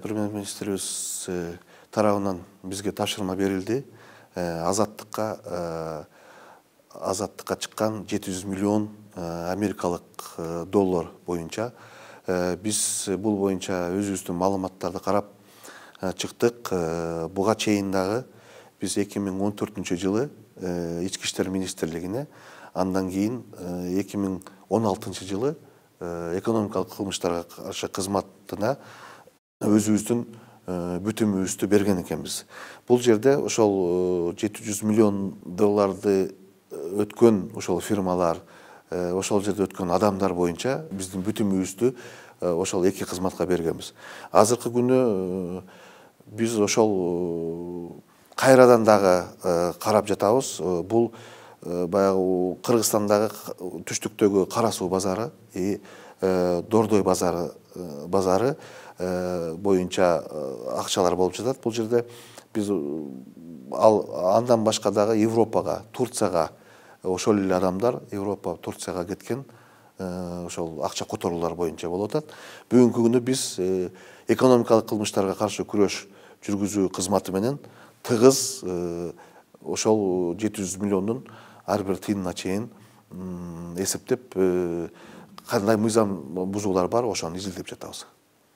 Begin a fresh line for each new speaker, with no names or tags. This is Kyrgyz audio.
Премьер-министрибиз тарабынан бизге тапшырма берилди. Азаттыкка чыккан 700 миллион америкалык доллар боюнча биз бул боюнча өзүбүздүн маалыматтарды карап чыктык. Буга чейин дагы биз 2014 жылы Ички иштер министрлигине, андан кийин 2016 жылы экономикалык кылмыштарга каршы кызматына өзүбүздүн бүтүмүбүздү берген экенбиз. Бул жерде ошол 700 миллион долларды өткөн ошол фирмалар, ошол жерде өткөн адамдар боюнча биздин бүтүмүбүздү ошол эки кызматка бергенбиз. Азыркы күнү биз ошол кайрадан дагы карап жатабыз. Бул баягы Кыргызстандагы түштүктөгү Кара суу базары, Дордой базары боюнча акчалар болуп жатат. Бул жерде биз андан башка дагы Европага, Турцияга ошол эле адамдар Европа, Турцияга кеткен ошол акча которуулар боюнча болуп атат. Бүгүнкү күнү биз экономикалык кылмыштарга каршы күрөш жүргүзүү кызматы менен тыгыз ошол 700 миллиондун ар бир тыйынына чейин эсептеп, кандай мыйзам бузуулар бар, ошону изилдеп жатабыз.